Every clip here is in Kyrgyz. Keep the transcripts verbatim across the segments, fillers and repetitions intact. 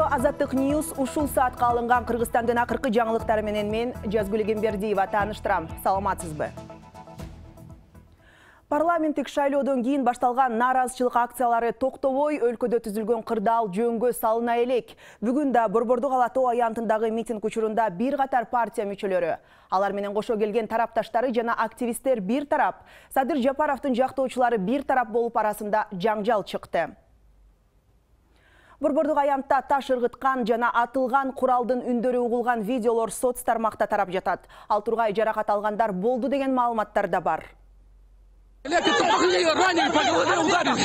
Радио Азаттык Ньюс ушул саатка алынган Кыргызстандын акыркы жаңылыктары менен мен Жазгүл Эгембердиева тааныштырам. Саламатсызбы? Парламенттик шайлоодон кийин башталган нааразычылык акциялары токтобой өлкөдө түзүлгөн кырдаал жөнгө салына элек. Бүгүн да Борбордук ала тоо аянтындагы митинг учурунда бир катар партия мүчөлөрү, алар менен кошо келген тарапташтары жана активисттер бир тарап, Садыр Жапаровдун жактоочулары бир тарап болуп арасында жаңжал чыкты. Борбордук аянтта таш ыргыткан жана атылган куралдын үндөрү угулган видеолор соц тармакта тарап жатат. Ал тургай жаракат алгандар болду деген маалыматтар да бар. Телек, раненый по голове ударили.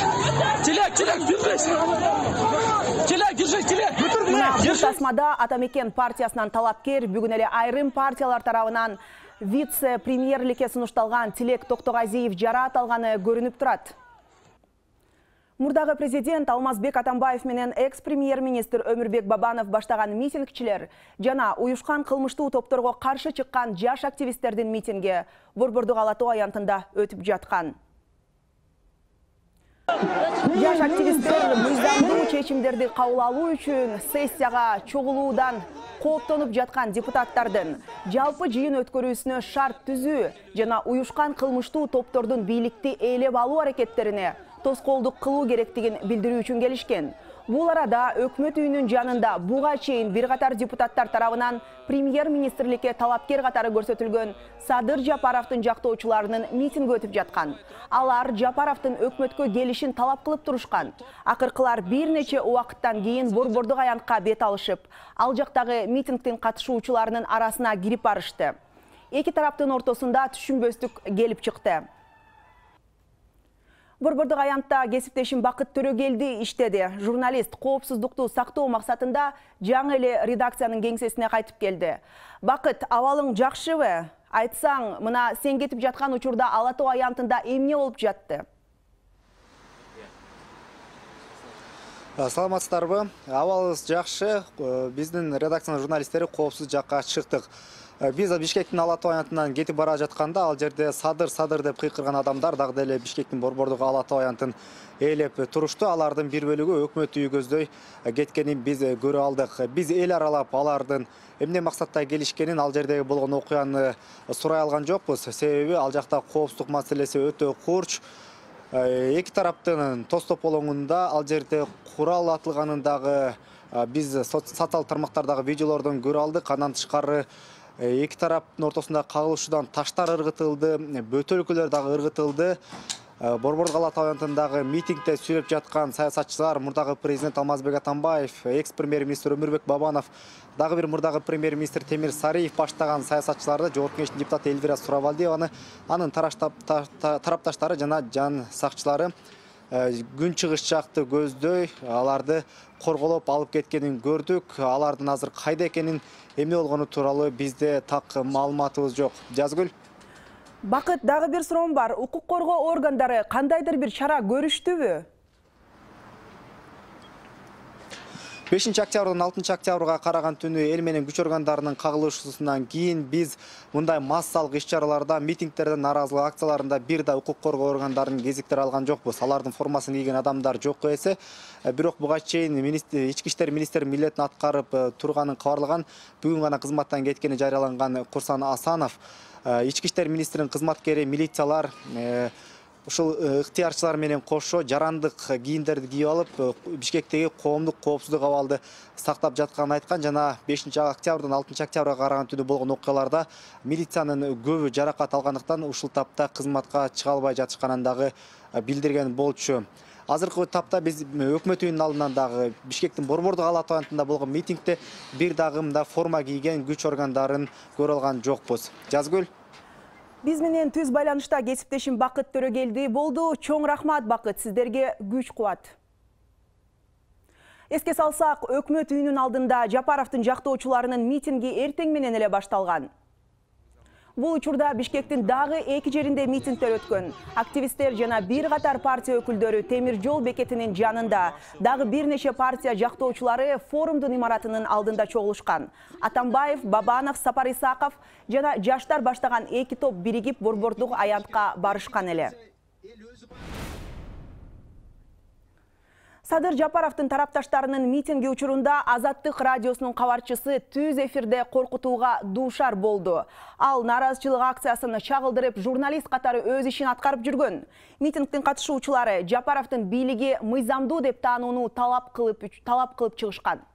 Телек, телек, держись. Телек, держись, телек. Бул тасмада Атамекен партиясынан талапкер, бүгүн эле айрым партиялар тарабынан вице-премьерликке сунушталган Тилек Токтогазиев жара аталганы көрүнүп турат. Мурдагы президент Алмазбек Атамбаев менен экс-премьер-министр Өмүрбек Бабанов баштаган митингчилер жана уюшкан кылмыштуу топторго каршы чыккан жаш активисттердин митинги Борбордук ала тоо аянтында өтүп жаткан. Жаш активисттер мыйзамдуу чечимдерди кабыл алуу үчүн сессияга чогулуудан кооптонуп жаткан депутаттардын жалпы жыйын өткөрүүсүнө шарт түзүү жана уюшкан кылмыштуу топтордун бийликти ээлеп алуу аракеттерине тоскоолдук кылуу керектигин билдирүү үчүн келишкен. Бул арада өкмөт үйүнүн жанында буга чейин бир катар депутаттар тарабынан премьер-министрликке талапкер катары көрсөтүлгөн Садыр Жапаровдун жактоочуларынын митинги өтүп жаткан. Алар Жапаровдун өкмөткө келишин талап кылып турушкан. Акыркылар бир нече убакыттан кийин Борбордук аянтка бет алышып, ал жактагы митингдин катышуучуларынын арасына кирип барышты. Эки тараптын ортосунда түшүнбөстүк келип чыкты. Борбордук аянтта кесиптешим Бакыт Төрөгелди иштеди. Журналист коопсуздукту сактоо максатында жаңы эле редакциянын кеңсесине кайтып келди. Бакыт, абалың жакшыбы? Айтсаң, мына сен кетип жаткан учурда ала тоо аянтында эмне болуп жатты? Саламатсыздарбы? Абалыбыз жакшы. Биздин редакциянын журналисттери коопсуз жакка чыктык. Биз Бишкектин ала тоо аянтынан кетип бара жатканда ал жерде садыр садыр деп кыйкырган адамдар дагы деле Бишкектин Борбордук ала тоо аянтын ээлеп турушту. Алардын бир бөлүгү өкмөт үйү көздөй кеткенин биз көрө алдык. Биз эл аралап алардын эмне максатта келишкенин, ал жердеги болгон окуяны сурай алган жокпуз. Себеби ал жакта коопсуздук маселеси өтө курч. Эки тараптын тоз тополоңунда ал жерде курал атылганын дагы биз социалдык тармактардагы видеолордон көрө алдык. Андан тышкары эки тараптын ортосунда кагылышуудан таштар ыргытылды, бөтөлкөлөр дагы ыргытылды. Борбордук ала тоо аянтындагы митингде сүйлөп жаткан саясатчылар, мурдагы президент Алмазбек Атамбаев, экс-премьер-министр Өмүрбек Бабанов, дагы бир мурдагы премьер-министр Темир Сариев баштаган саясатчыларды, Жогорку Кеңештин депутаты Элвира Суравалдиеваны, анын тарапташтары жана жан сакчылары күн чыгыш жакты көздөй аларды корголоп алып кеткенин көрдүк. Алардын азыр кайда экенин, эмне болгону тууралуу бизде так маалыматыбыз жок. Жазгүл. Бакыт, дагы бир суроом бар. Укук коргоо органдары кандайдыр бир чара көрүштүбү? бешинчи октябрдан алтынчы октябрга караган түнү эл менен күч органдарынын кагылышуусунан кийин биз мындай массалык иш-чараларда, митингтерде, нааразылык акцияларында бир да укук коргоо органдарынын кезиктери алган жокпуз. Алардын формасын кийген адамдар жок эсе. Бирок буга чейин ички иштер министри милдетин аткарып турганын кабарлаган, бүгүн гана кызматтан кеткени жарыяланган Курсан Асанов, ички иштер министринин кызматкери, милициялар ушул ыктыярчылар менен кошо жарандык кийимдерди кийип алып, Бишкектеги коомдук коопсуздук абалды сактап жатканын айткан жана бешинчи октябрдан алтынчы октябрга караган түнү болгон окуяларда милициянын көбү жаракат алгандыктан ушул тапта кызматка чыга албай жатышканын дагы билдирген болчу. Азыркы тапта биз өкмөт үйүнүн алдынан дагы Бишкектин Борбордук ала тоо аянтында болгон митингде бир дагы мында форма кийген күч органдарын көрө алган жокпуз. Жазгүл. Биз менен түз байланышта кесиптешим Бакыт Төрөгелди болду. Чоң рахмат, Бакыт, сиздерге күч кубат. Эске салсак, өкмөт үйүнүн алдында Жапаровдун жактоочуларынын митинги эртең менен эле башталган. Бул учурда Бишкектин дагы эки жеринде митингдер өткөн. Активисттер жана бир катар партия өкүлдөрү темир жол бекетинин жанында, дагы бир нече партия жактоочулары форумдун имаратынын алдында чогулушкан. Атамбаев, Бабанов, Сапар Исаков жана жаштар баштаган эки топ биригип Борбордук аянтка барышкан эле. Садыр Жапаровдун тарапташтарынын митинги учурунда Азаттык радиосунун кабарчысы түз эфирде коркутууга дуушар болду. Ал нааразычылык акциясын чагылдырып, журналист катары өз ишин аткарып жүргөн. Митингдин катышуучулары Жапаровдун бийлиги мыйзамдуу деп таанууну талап кылып талап кылып чыгышкан.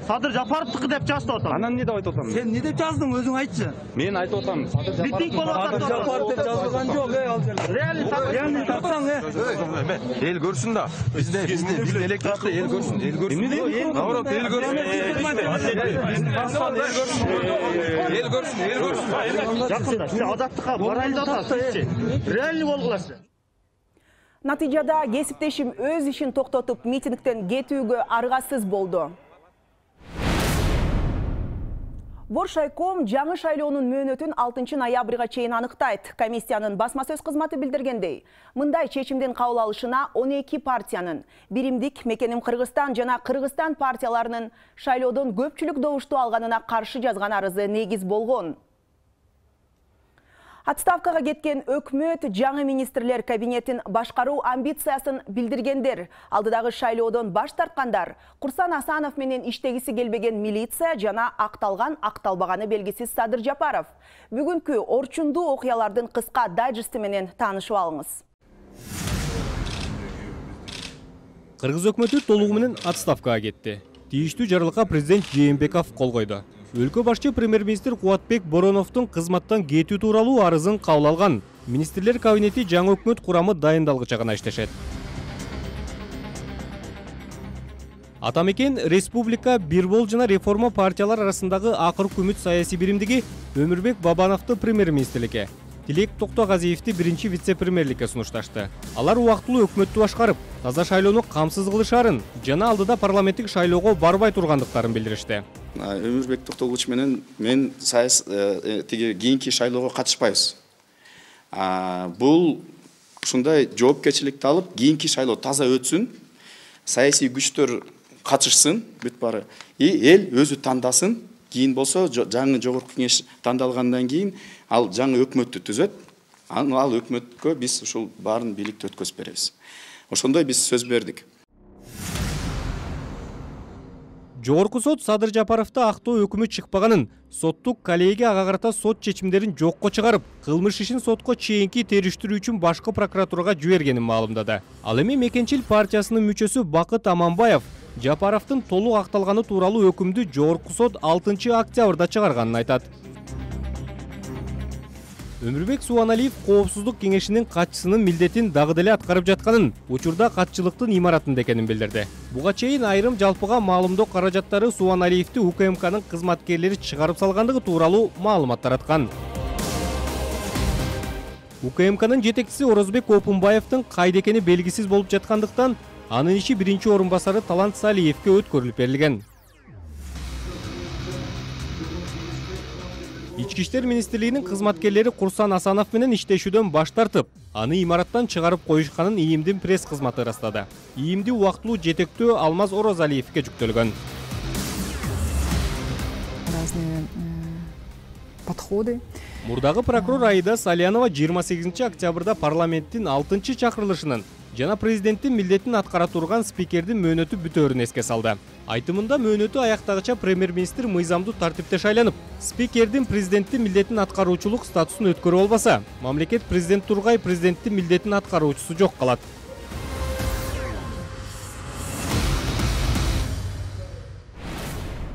Садыр Жапаровдуку деп жазып атам. Анан эмне деп айтып атам? Сен эмне деп жаздың, өзүң айтчы. Мен айтып атам, Садыр Жапаров. Митинг болуп атат. Садыр Жапаров деп жазылган жок, эй, ал жерде. Реально Садыр, реально тапсаң, э. Эл көрсүн да. Бизде бизде бизде электоратты эл көрсүн, эл көрсүн. Наоборот, эл көрсүн. Эл көрсүн, эл көрсүн. Жакында сиз Азаттыкка барайлы атасызчы. Реально болгулачы. Натыйжада кесиптешим өз ишин токтотуп, митингден кетүүгө аргасыз болду. Боршайком жаңы шайлоонун мөөнөтүн алтынчы ноябрга чейин аныктайт. Комиссиянын басма сөз кызматы билдиргендей, мындай чечимдин кабыл алышына он эки партиянын, Биримдик, Мекеним Кыргызстан жана Кыргызстан партияларынын шайлоодон көпчүлүк добушту алганына каршы жазган арызы негиз болгон. Отставкага кеткен өкмөт жаңы министрлер кабинетин башкаруу амбициясын билдиргендер. Алдыдагы шайлоодон баш тарткандар, Курсан Асанов менен иштегиси келбеген милиция жана акталган акталбаганы белгисиз Садыр Жапаров. Бүгүнкү орчундуу окуялардын кыска дайджести менен таанышып алыңыз. Кыргыз өкмөтү толугу менен отставкага кетти. Тийиштүү жарлыкка президент Жээнбеков кол койду. Өлкө башчы премьер-министр Кубатбек Бороновдун кызматтан кетүү тууралуу арызын кабыл алган. Министрлер кабинети жаңы өкмөт курамы дайындалгыча гана иштешет. Атамекен Республика Бирбол жана реформа партиялар арасындагы акыркы үмүт саясий биримдиги Өмүрбек Бабановду премьер-министрликке, Тилек Токтогазиевди биринчи вице-премьерликке сунушташты. Алар убактылуу өкмөттү башкарып, таза шайлоону камсыз кылышарын жана алдыда парламенттик шайлоого барбай тургандыктарын билдиришти. Өмүрбек Токтогулович менен мен саяс тиги кийинки шайлоого катышпайбыз. Бул ушундай жоопкерчиликти алып, кийинки шайлоо таза өтсүн, саясий күчтөр катышсын, бүт бары. И эл өзү тандасын, кийин болсо жаңы жогорку кеңеш тандалгандан кийин ал жаңы өкмөттү түзөт. Ал өкмөткө биз ушул баарын бийликти өткөзүп беребиз. Ошондой биз сөз бердик. Жогорку сот Садыр Жапаровду актоо өкүмү чыкпаганын, соттук коллегия ага карата сот чечимдерин жокко чыгарып, кылмыш ишин сотко чейинки териштирүү үчүн башкы прокуратурага жибергенин маалымдады. Ал эми Мекенчил партиясынын мүчөсү Бакыт Аманбаев Жапаровдун толук акталганы тууралуу өкүмдү жогорку сот алтынчы октябрда чыгарганын айтат. Өмүрбек Субаналиев коопсуздук кеңешинин катчысынын милдетин дагы деле аткарып жатканын, учурда катчылыктын имаратында экенин билдирди. Буга чейин айрым жалпыга маалымдоо каражаттары Субаналиевди УКМКнын кызматкерлери чыгарып салгандыгы тууралуу маалымат тараткан. УКМКнын жетекчиси Орозбек Опунбаевдин кайда экени белгисиз болуп жаткандыктан, анын иши биринчи орун басары Талант Салиевке өткөрүлүп берилген. Ички иштер министрлигинин кызматкерлери Курсан Асанов менен иштешүүдөн баш тартып, аны имараттан чыгарып коюшканын ИИМдин пресс кызматы ырастады. ИИМди убактылуу жетектөө Алмаз Орозалиевке жүктөлгөн. Разные подходы. Мурдагы прокурор Аида Салянова жыйырма сегизинчи октябрда парламенттин алтынчы чакырылышынын жана президенттин милдетин аткара турган спикердин мөөнөтү бүтөөрүн эске салды. Айтымында мөөнөтү аяктагыча премьер-министр мыйзамдуу тартипте шайланып, спикердин президенттин милдетин аткаруучулук статусун өткөрө албаса, мамлекет президент тургай президенттин милдетин аткаруучусу жок калат.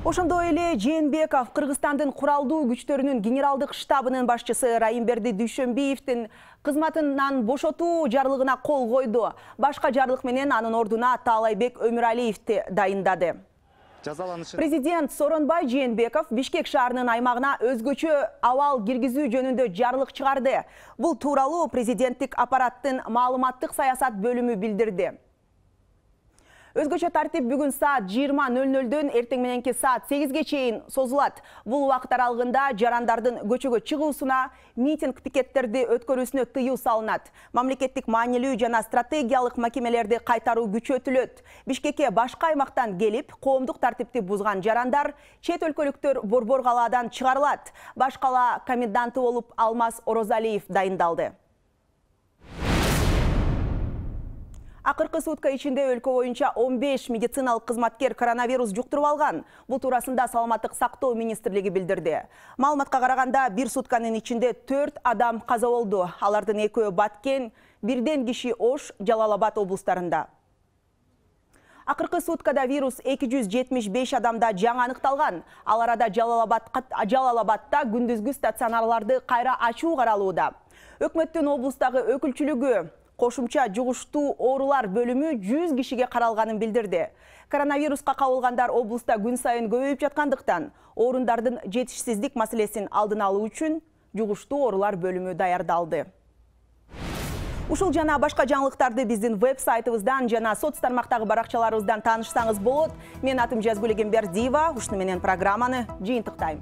Ошондой эле Жээнбеков Кыргызстандын куралдуу күчтөрүнүн генералдык штабынын башчысы Райымберди Дүйшөнбиевдин кызматынан бошотуу жарлыгына кол койду. Башка жарлык менен анын ордуна Таалайбек Өмүралиевди дайындады. Президент Сооронбай Жээнбеков Бишкек шаарынын аймагына өзгөчө абал киргизүү жөнүндө жарлык чыгарды. Бул тууралуу президенттик аппараттын маалыматтык саясат бөлүмү билдирди. Өзгөчө тартип бүгүн саат жыйырма нөл нөлдөн эртең мененки саат сегизге чейин созулат. Бул убакыт аралыгында жарандардын көчөгө чыгуусуна, митинг пикеттерди өткөрүүсүнө тыюу салынат. Мамлекеттик маанилүү жана стратегиялык макемелерди кайтаруу күчөтүлөт. Бишкекке башка аймактан келип, коомдук тартипти бузган жарандар чет өлкөлүктөр борбор калаадан чыгарылат. Баш кала коменданты болуп Алмаз Орозалиев дайындалды. Акыркы сутка ичинде өлкө боюнча он беш медициналык кызматкер коронавирус жуктуруп алган. Бул туурасында Саламаттык сактоо министрлиги билдирди. Маалыматка караганда бир сутканын ичинде төрт адам каза болду. Алардын экөө Баткен, бирден киши Ош, Жалал Абад облустарында. Акыркы суткада вирус эки жүз жетимиш беш адамда жаңы аныкталган. Ал арада Жалал Абадта күндүзгү стационарларды кайра ачуу каралууда. Өкмөттүн облустагы өкүлчүлүгү кошумча жугуштуу оорулар бөлүмү жүз кишиге каралганын билдирди. Коронавируска кабылгандар облуста күн сайын көбөйүп жаткандыктан, орундардын жетишсиздик маселесин алдын алуу үчүн жугуштуу оорулар бөлүмү даярдалды. Ушул жана башка жаңылыктарды биздин веб-сайтыбыздан жана соц тармактагы баракчаларыбыздан таанышсаңыз болот. Мен атым Жазгүл Эгембердиева, ушуну менен программаны жыйынтыктайм.